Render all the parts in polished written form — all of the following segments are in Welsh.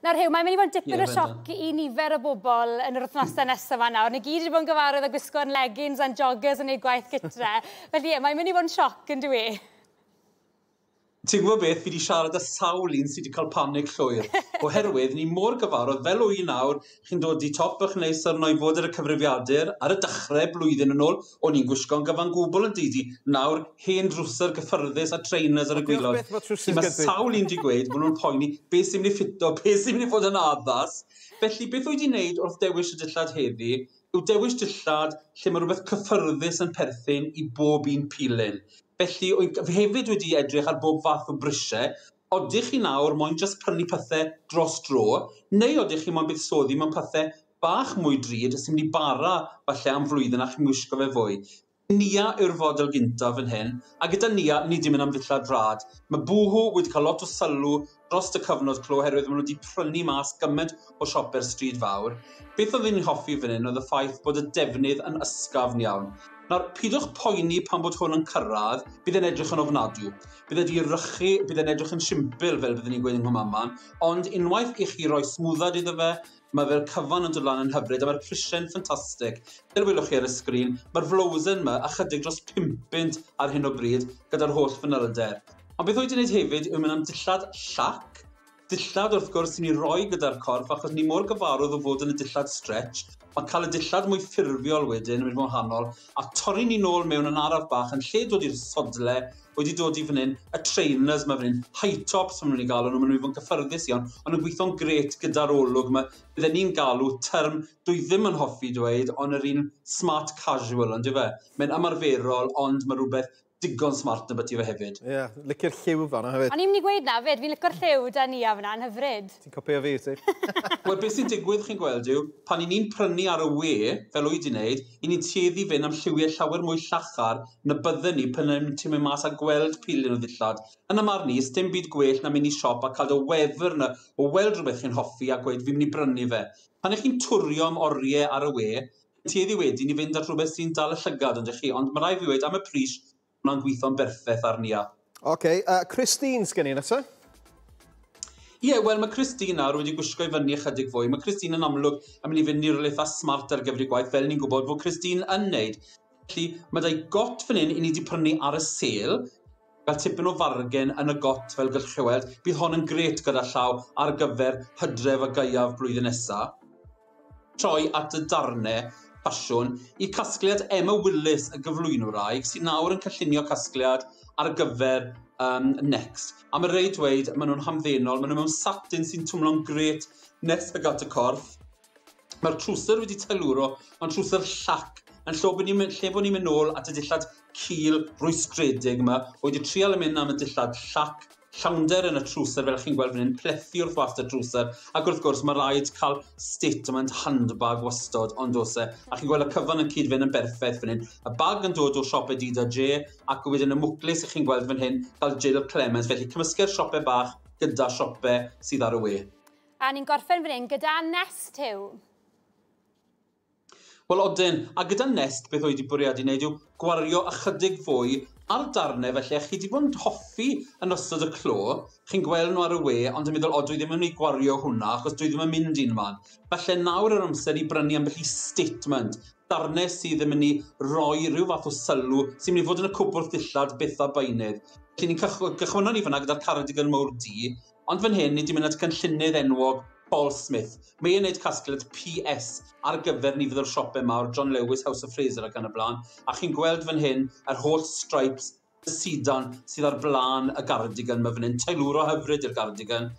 Nawr Huw, mae'n mynd i fod yn dipyn o sioc i nifer o bobl yn yr wythnosau nesaf yma nawr. Ni gyd wedi bod yn gyfarwydd â gwisgo'n leggings a'n joggers yn ei gwaith gytre. Felly ie, mae'n mynd i fod yn sioc yn dyw e? Ti'n gwybod beth, fi wedi siarad â sawl un sydd wedi cael panig llwyr. Oherwydd, ni mor gyfarwydd, fel wy'n nawr, chi'n dod i top eich neis arno i fod ar y cyfrifiadur, ar y dechrau blwyddyn yn ôl, o'n i'n gwisgo'n gyfan gwbl yn didi. Nawr, hen drwser gyffyrddus a trainers ar y gwaelod. Mae sawl un wedi gweud bod nhw'n poeni beth sy'n mynd i ffito, beth sy'n mynd i fod yn addas. Felly, beth wyt ti'n wneud wrth dewis y dillad heddi, yw dewis dillad lle mae rhywbeth cyffyrddus yn perthyn i bob un pilyn. Felly, fi hefyd wedi edrych ar bob fath o brisiau. Odych chi nawr moyn jyst prynu pethau dros dro, neu odych chi moyn buddsoddi mewn pethau bach mwy drud sy'n mynd i bara falle am flwyddyn a chi'n wisgo fe fwy. Nia yw'r fodel gyntaf fan hyn, a gyda Nia, ni wedi mynd am ddillad rhad. Mae Boohoo wedi cael lot o sylw dros y cyfnod clo oherwydd maen nhw wedi prynu mas gymaint o siopau'r stryd fawr. Beth oedd ni'n hoffi fan hyn oedd y ffaith bod y defnydd yn ysgafn iawn. Nawr, pidwch poeni pan bod hwn yn cyrraedd, bydd e'n edrych yn ofnadw. Bydd e wedi rychu, bydd e'n edrych yn simpl fel byddwn ni'n gweud yng Nghymraeg, ond unwaith i chi roi smwddad iddo fe, mae fe'r cyfan yn dod lan yn hyfryd, a mae'r prisiau'n ffantastig. Fel welwch chi ar y sgrin, mae'r flowsen yma ychydig dros 5 bunt ar hyn o bryd gyda'r holl fanylder. Ond beth wyt ti'n gwneud hefyd yw mynd am dillad llac, dillad wrth gwrs sy'n ei roi gyda'r corff, achos ni mor gyfarwydd o fod yn y dillad stretch, mae cael y dillad mwy ffurfiol wedyn yn mynd yn wahanol, a torri ni nôl mewn yn araf bach yn lle dod i'r sodle, wedi dod i fan hyn, y trainers mae fan hyn, high tops maen nhw'n ei galw nhw, maen nhw'n fod yn gyffyrddus iawn, ond yn gweithio'n gret gyda'r olwg yma. Bydden ni'n galw term dwi ddim yn hoffi dweud, ond yr un smart casual, ond fe? Mae'n ymarferol, ond mae rhywbeth digon smart yn byti fe hefyd. Ie, yeah, licio'r lliw fan'na hefyd. O'n i'n mynd i gweud na fyd, fi'n licio'r lliw da ni a fyna, yn hyfryd. Ti'n copio fi, ti? Wel, beth sy'n digwydd chi'n gweld yw, pan i ni'n prynu ar y we, fel wyt ti'n wneud, i ni'n tueddu fynd am lliwiau llawer mwy llachar na bydden ni pan ti'n mynd mas a gweld pilyn o ddillad. Yn y marn i, dim byd gwell na mynd i siop a cael dy wefr yna o weld rhywbeth chi'n hoffi a gweud fi'n mynd i brynu fe. Pan ych chi'n twrio am oriau ar y we, tueddu wedyn i fynd at rhywbeth sy'n dal y llygad, ond chi, ond mae rhaid fi weud am y pris, hwnna'n gweithio'n berffaith ar Nia. Oce, Christine sgen i nesa? Ie, yeah, wel mae Christine nawr wedi gwisgo i fyny ychydig fwy. Mae Christine yn amlwg yn mynd i fynd i rywle eitha smart ar gyfer ei gwaith, fel ni'n gwybod fod Christine yn neud. Felly, mae dau got fan hyn i ni wedi prynu ar y sale, gael tipyn o fargen yn y got fel gallwch chi weld. Bydd hon yn gret gyda llaw ar gyfer hydref a gaeaf blwyddyn nesaf. Troi at y darnau ffasiwn i casgliad Emma Willis, y gyflwynwraig, sy'n nawr yn cynllunio casgliad ar gyfer Next. A mae rhaid dweud, maen nhw'n hamddenol, maen nhw mewn satin sy'n twmlo'n gret nes ag at y corff. Mae'r trwser wedi teilwro, mae'n trwser llac, yn lle bod ni'n mynd nôl at y dillad cul rwystredig yma, wedi trial yn mynd am y dillad llac, llawnder yn y trwser, fel chi'n gweld fan hyn, plethu wrth wast y trwser, ac wrth gwrs mae rhaid cael statement handbag wastod, ond oes e, a chi'n gweld y cyfan yn cyd-fynd yn berffaith fan hyn. Y bag yn dod o siop Adidas J, ac wedyn y mwclis chi'n gweld fan hyn, cael Jill Clemens, felly cymysgu'r siopau bach gyda siopau sydd ar y we. A ni'n gorffen fan hyn gyda Nest, Huw. Wel, odyn, a gyda Nest, beth oedd wedi bwriadu wneud yw gwario ychydig fwy ar darnau, felly chi wedi bod yn hoffi yn ystod y clo, chi'n gweld nhw ar y we, ond yn meddwl, o, dwi ddim yn mynd i gwario hwnna, achos dwi ddim yn mynd un man. Felly nawr yr amser i brynu ambell i statement, darnau sydd yn mynd i roi rhyw fath o sylw, sy'n mynd i fod yn y cwpwrdd dillad byth a beunydd. Felly ni'n cychwynnon ni fyna gyda'r cardigan mawr du, ond fan hyn ni wedi mynd at cynllunydd enwog Paul Smith. Mae e'n gwneud casgliad PS ar gyfer nifer o'r siopau mawr, John Lewis, House of Fraser ac yn y blaen. A chi'n gweld fan hyn yr holl stripes, y sidan sydd ar blaen y gardigan mae fan hyn, teilwro hyfryd i'r gardigan.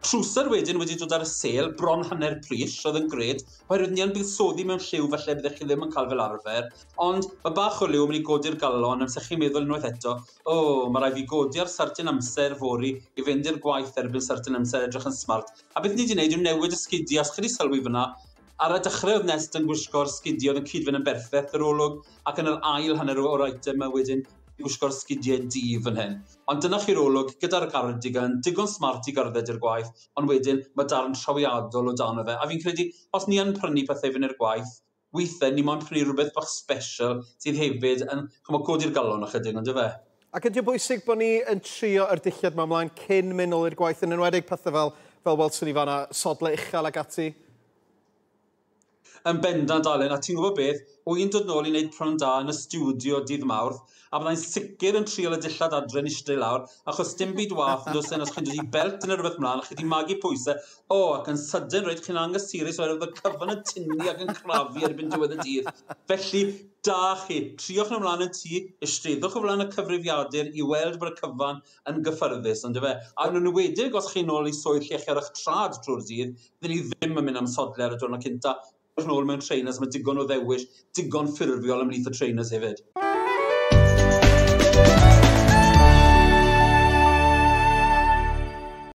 Trwser wedyn wedi dod ar y sêl, bron hanner pris, oedd yn gred, oherwydd ni yn buddsoddi mewn lliw falle byddech chi ddim yn cael fel arfer, ond mae bach o liw yn mynd i godi'r galon, amser chi'n meddwl unwaith eto, o, mae rhaid fi godi ar certain amser fory i fynd i'r gwaith erbyn certain amser edrych yn smart. A beth ni wedi gwneud yw newid y sgidiau, os chi wedi sylwi fyna, ar y dechrau oedd Nest yn gwisgo'r sgidiau oedd yn cyd-fynd yn berffaith yr olwg, ac yn yr ail hanner o'r eitem yma wedyn gwisgo'r sgidiau du fan hyn. Ond dyna chi'r olwg gyda'r cardigan, digon smart i gerdded i'r gwaith, ond wedyn mae darn trawiadol o dan o fe. A fi'n credu, os ni yn prynu pethau fynd i'r gwaith, weithiau ni moyn prynu rhywbeth bach special sydd hefyd yn codi'r galon ychydig, ond fe? Ac ydy o bwysig bod ni yn trio yr dillad yma ymlaen cyn mynd nôl i'r gwaith, yn enwedig pethau fel, Fel welson ni fanna, sodle uchel ag ati. Yn bendant, Alun, a ti'n gwybod beth, wy'n dod nôl i wneud Prynhawn Da yn y stiwdio dydd Mawrth, a byddai'n sicr yn trial y dillad adre yn eistedd lawr, achos dim byd wath yn does os chi'n dod i belt neu rhywbeth mlaen, a chi wedi magu pwysau, o, ac yn sydyn reit chi'n angysurus oherwydd y cyfan yn tynnu ac yn crafu erbyn diwedd y dydd. Felly, da chi, triwch nhw ymlaen yn tŷ, eisteddwch o flaen y cyfrifiadur i weld bod y cyfan yn gyffyrddus, ond fe. A yn enwedig os chi'n ôl i swydd lle chi ar eich trad trwy'r dydd, fydden ni ddim yn mynd am sodle ar y diwrnod cynta. Nôl mewn trainers, mae digon o ddewis, digon ffurfiol ymhlith y trainers hefyd.